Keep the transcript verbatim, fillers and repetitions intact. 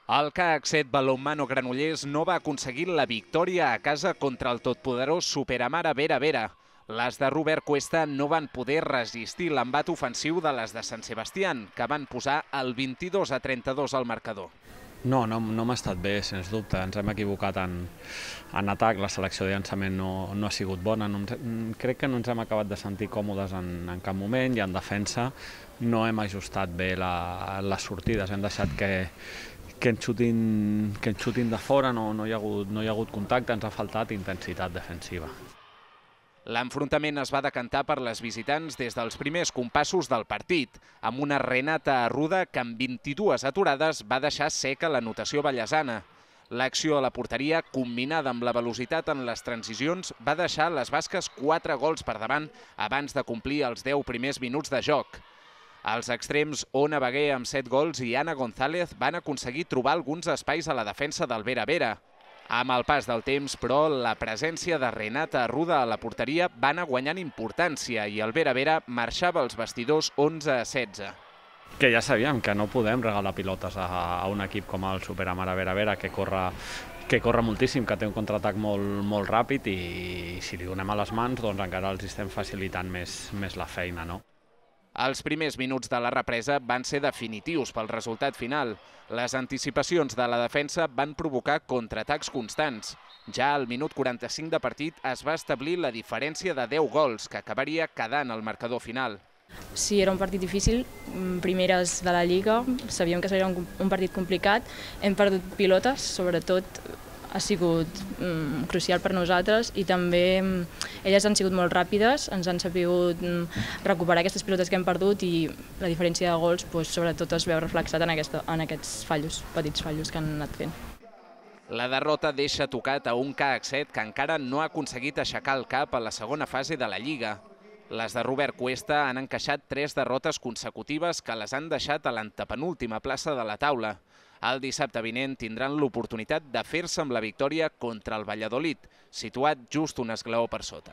El C A C set Balonmano Granollers no va aconseguir la victòria a casa contra el totpoderós Superamara Vera Vera. Les de Robert Cuesta no van poder resistir l'embat ofensiu de les de Sant Sebastián, que van posar el vint-i-dos a trenta-dos al marcador. No, no, no m'ha estat bé, sens dubte. Ens hem equivocat en, en atac, la selecció de llançament no, no ha sigut bona. No ens, crec que no ens hem acabat de sentir còmodes en, en cap moment i en defensa no hem ajustat bé la, les sortides. Hem deixat que, que, ens xutin, que ens xutin de fora, no, no, hi ha hagut, no hi ha hagut contacte, ens ha faltat intensitat defensiva. L'enfrontament es va decantar per les visitants des dels primers compassos del partit, amb una Renata Arruda que amb vint-i-dues aturades va deixar seca l'anotació ballesana. L'acció a la porteria, combinada amb la velocitat en les transicions, va deixar les basques quatre gols per davant abans de complir els deu primers minuts de joc. Els extrems Ona Baguer amb set gols i Anna González van aconseguir trobar alguns espais a la defensa del Vera Vera. Amb el pas del temps, però, la presència de Renata Arruda a la porteria va anar guanyant importància i el Vera Vera marxava als vestidors onze a setze. Que ja sabíem que no podem regalar pilotes a, a un equip com el Superamara Vera Vera, que corre, que corre moltíssim, que té un contraatac molt, molt ràpid i si li donem a les mans doncs encara els estem facilitant més, més la feina, no? Els primers minuts de la represa van ser definitius pel resultat final. Les anticipacions de la defensa van provocar contraatacs constants. Ja al minut quaranta-cinc de partit es va establir la diferència de deu gols, que acabaria quedant al marcador final. Sí, era un partit difícil, primeres de la Lliga, sabíem que seria un, un partit complicat, hem perdut pilotes, sobretot ha sigut mm, crucial per nosaltres i també mm, elles han sigut molt ràpides, ens han sabut mm, recuperar aquestes pilotes que hem perdut i la diferència de gols pues, sobretot es veu reflexat en, aquesta, en aquests fallos, petits fallos que han anat fent. La derrota deixa tocat a un C A C set que encara no ha aconseguit aixecar el cap a la segona fase de la Lliga. Les de Robert Cuesta han encaixat tres derrotes consecutives que les han deixat a l'antepenúltima plaça de la taula. El dissabte vinent tindran l'oportunitat de fer-se amb la victòria contra el Valladolid, situat just un esglaó per sota.